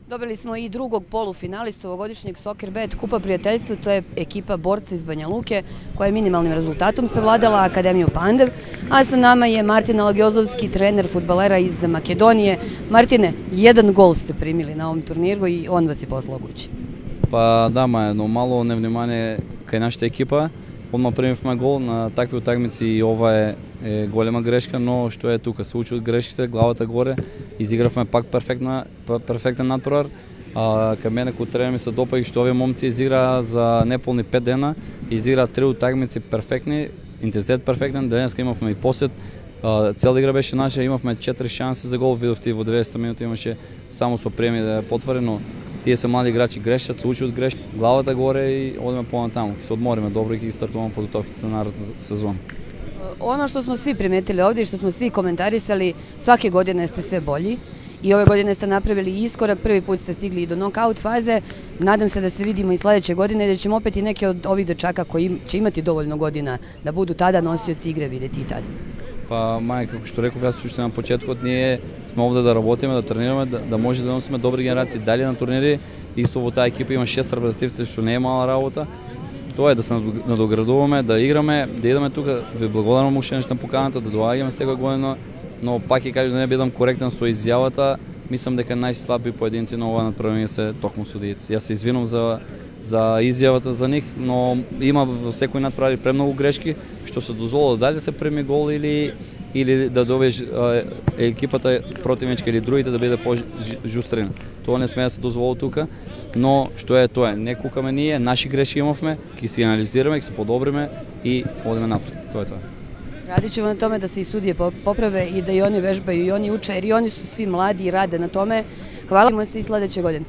Dobili smo i drugog polufinalistu ovogodišnjeg Soccer Bet Kupa prijateljstva, to je ekipa Borca iz Banja Luke koja je minimalnim rezultatom savladala Akademiju Pandev, a sa nama je Martin Alagiozovski, trener fudbalera iz Makedonije. Martine, jedan gol ste primili na ovom turniru i on vas je poslao kući. Pa да, но мало невнимание кај нашата екипа. Одма примивме гол на такви утакмици и ова е голема грешка, но што е тука, се учи од грешките, главата горе, изигравме пак перфектен надпревар. Кај мене кој тренер ми се допаѓа што овие момци изиграа за неполни 5 дена, изиграа 3 утакмици перфектни, интензитет перфектен, денеска имавме и посет. Цела игра беше наша, имавме 4 шанси за гол, видовте и во 200 минути имаше само со приеми да ја потвори, но тие се млади играчи, грешат, се учи од грешки, главата горе и одиме понатаму, ќе се одмориме добро и ќе стартуваме подготовките за наредна сезона. Ono što smo svi primetili ovdje i što smo svi komentarisali, svake godine ste sve bolji i ove godine ste napravili iskorak, prvi put ste stigli i do knockout faze. Nadam se da se vidimo i sledeće godine i da ćemo opet i neke od ovih dečaka koji će imati dovoljno godina da budu tada nosioci igre videti i tada. Па мај, како што реков, јас уште на почетокот, ние сме овде да работиме, да тренираме, да може да носиме добри генерации дали на турнири. Исто во таа екипа има 6 репрезентативци, што не е мала работа. Тоа е да се надоградуваме, да играме, да идеме тука. Ви благодарам уште нешто на поканата, да доаѓаме секоја година, но пак ќе кажам да не бидам коректен со изјавата. Мислам дека најслаби поединци на ова надпревање се токму судиите. Јас се извинувам за изјавата за нив, но има во секој надправи премногу грешки, што се дозволува дали да се преми гол или да добиеш екипата противничка или другите да биде по-жустрина. Тоа не сме да се дозволи тука, но што е тоа? Не кукаме ние, наши грешки имавме, ќе си анализираме, ќе се подобриме и одиме напред. Тоа е тоа. Radit ćemo na tome da se i sudije poprave i da i oni vežbaju i oni uče, jer i oni su svi mladi i rade na tome. Hvala se i sledeće godine.